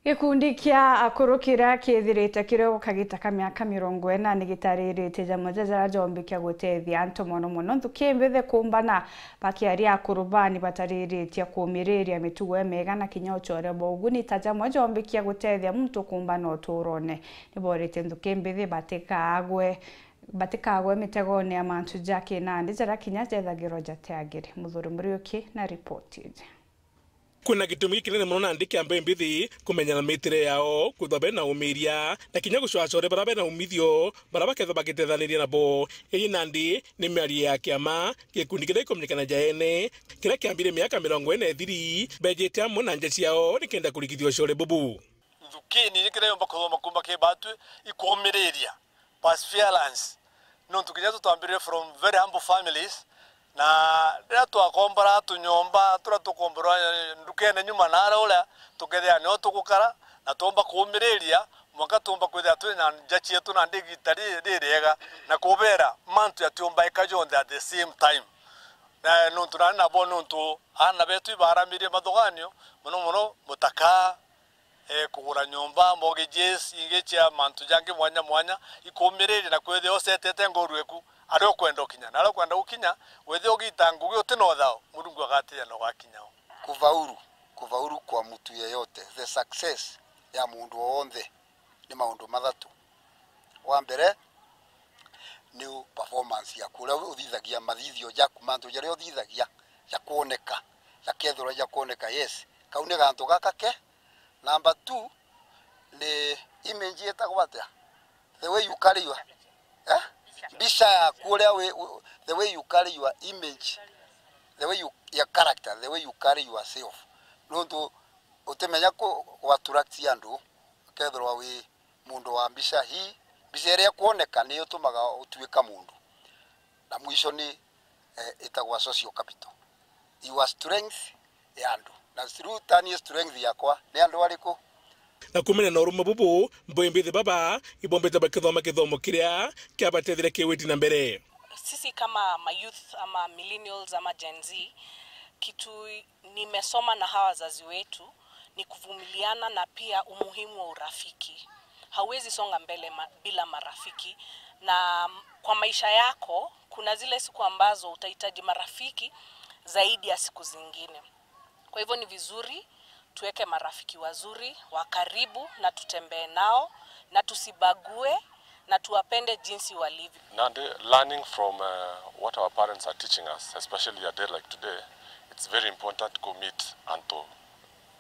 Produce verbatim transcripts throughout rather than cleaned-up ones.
Gikundi kia akuru kiria kithirite kiri o kagita ka miaka mirongo ina ni gitariritie jamwe ja jaria jombikia gutethia antu mono mono nthuki mbithi kuumbana, bakiaria akuru baa ni batariritie kuumiriria mitugo imiega na kinya ucore bwa uguni ta jamwe jombikia gutethia muntu kuumbana uturone. Ni booritie nthuki mbithi batikagwe, batikagwe mitegone ya mantu ja kinandi jaria kinya jethagirwa jateagiri. Muthuri Muriuki na ripoti iji. Kwina gitumi gikinene mono nandi kia mbeu mbithi kumenyana mitire yao, kwithwa bena umiria, na kinya gucwacore baria bena umithio, baria bakethwa bagitethaniria nabo. Iji nandi ni miario ya kiama, gikundi kiria gikumenyekana ja ene, kiria kiambire miaka mirongo ina ithiri, bejite amwe na nja ciao nikenda kurikithia ucore bubu. Nthuki ni kiria yomba kuthoma kuuma ki batwi, ikumiriria, perseverance. Nontu kinya tutwambirire from very humble families, na riria twakombora tunyomba turia tukomborwa ndukene nyuma naara uria, tukethira nio tugukara, na twomba kuumiriria, mwanka twomba kwithira twina nja cietu na ndi igita ri-, ririega, na kubera mantu jatiumbaika jonthe at the same time. Na nontu nani nabo, nontu aana betu ibaramirie mathuganio, mono mono mutaka, eh, kugura nyomba, mortgages, ingi cia mantu jangi mwanya mwanya, ikumiriria na kwithia ucetete nguru eku, aria ukwenda ukinya. Na aria ukwenda gukinya, withia ugita ngugi uti na uthao, Murungu agatinya na ugakinya o. Kufaulu, kufaulu kwa mtu yeyote, the success ya mundu wonthe ni maundu mathatu. Wa mbere, ni performance yaku, uria uthithagia mathithio jaku, mantu jaria uthithagia, jakwoneka, jakethirwa jakwoneka, yes, kau ni gantu gaka ke. Number two, ni image itagwo atia? The way you carry your, eh? Mbica yaku, uria wi-, u-, the way you carry your image, the way you, your character, the way you carry yourself. Nontu utimenya ku, ku attract andu, ukethirwa wi mundu wa mbica hii, mbica iria ikwoneka niyo itumaga utuika mundu. Na mwisho ni, eh, itagwa social capital. Your strength ya andu. Na through tani strength yakwa, ni andu ariku? Na kumenya na urumwe bubu, mbeu mbithi baba ibombite bakithoma kithomo kiria kiabateethire kiwiti na mbere. Sisi kama ma youth ama millennials ama Gen Z, kitu nimesoma na hawa wazazi wetu ni kuvumiliana na pia umuhimu wa urafiki. Hauwezi songa mbele ma-, bila marafiki, na kwa maisha yako kuna zile siku ambazo utahitaji marafiki zaidi ya siku zingine. Kwa hivyo ni vizuri tuweke marafiki wazuri, wa karibu, na tutembee nao, na tusibague, na tuwapende jinsi walivyo. Nandi, learning from, uh, what our parents are teaching us, especially a day like today, it's very important to commit antu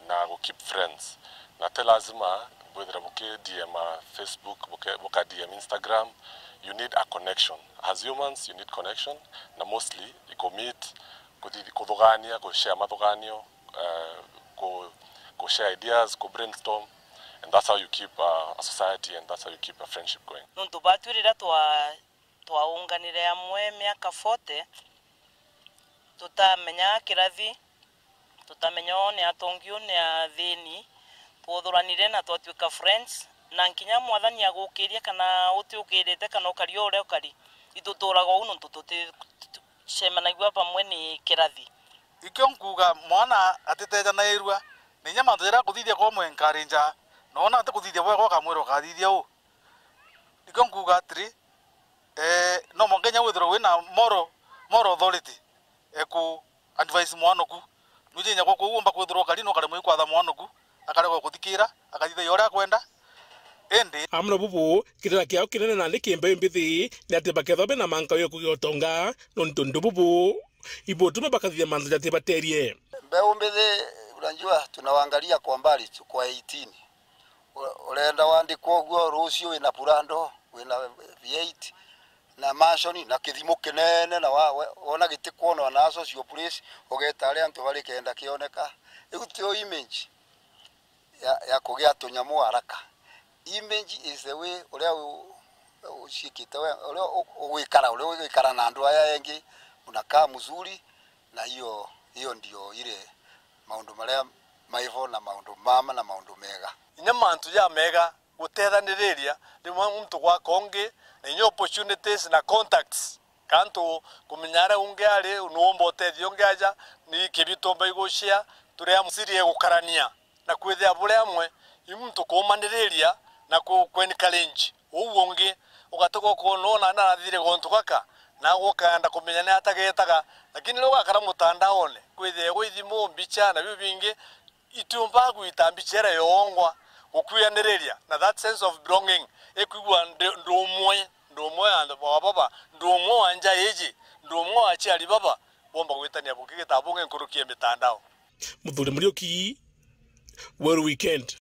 na gu keep friends. Na ti lazima bwithire buki D M a Facebook, buke-, buka D M Instagram. You need a connection. As humans, you need connection, na mostly i commit, kuthi-, kuthugania, ku share mathuganio, eh, ku, ku share ideas, ku brainstorm, and that's how you keep, uh, a society, and that's how you keep a friendship going. Nontu batwi riria twa-, twaunganire amwe miaka forty, tutamenya kirathi, tutamenya uu ni atongi, uu ni athini, twothuranire na twatwika friends, na nkinya Mwathani agukirie kana utiukirite kana ukari o uria ukari, ituturaga uu nontu tuti-, tuti-, cemanagua bamwe ni kirathi. Ikio nkuuga, mwana atitejanairua, na inya mantu jaria akuthithia kwa mu encourage, noona atikuthithia bwega, ukamwira ukathithia uu. Ikio nkuuga atiri, eh, no mwanka inya withirwe wina moral, moral authority, eku advise mwana oku. Nwiji inya gwaku uu umba kwithirwa ukari na ukaremwa ikwatha mwana oku, akaregwa guthikira, akathithagia uria akwenda. Indi amwe na bubu, kirira kiao kinene nandi ki mbeeu mbithi ni ati bakethwa bena manka yo kugia utonga, nontu ndu bubu ibutuma bakathithia mantu jatibaterie. Mbeeu mbithi, unajua, tunawaangalia kwa mbali tu, kwa eighteen. U-, urenda wandikwa uguo, rucio wina Prado, wina V eight, na mansion, na kithimu kinene, na wa-, we-, wona gitikwonwa na social place, ugeta aria antu bari kenda kioneka. Riu tio image ya, ya kugia tunyamu haraka. Image is the way uria u-, uciikite we, uria u-, ugwikara, uria ugwikara na andu aya engi, unakaa mzuri, na hiyo, hiyo ndio ile maundu maria maivo na maundu mama na maundu mega. Inya mantu jamega gutethaniriria, rimwe muntu gwaka ungi, na inya opportunities na contacts. Kantu kumenya aria ungi ari, nuumba utethia ungi aja, ni kibi tumba igucia, turi amwe siri egukarania, na kwithia buri amwe Ni muntu kuumaniriria na ku-, ku encourage uu ungi, ugatiga ukoona ona narathire gontu gaka, na ukaenda kumenya ni atagetaga. Lakini riria ugakara mutandaone, kwithire gwi thimu, mbicha na biu bingi, itiumbaga gwita mbicha iria yongwa, gukwianiriria na that sense of belonging, ikwigua ndi, ndi umwe, ndi umwe wa, wa baba, ndi umwe wa nja iji, ndi umwe wa aciari baba, bomba gwitania bungi gita bungi nkuruki ya mitandao. Muthuri Muriuki, Weru Weekend.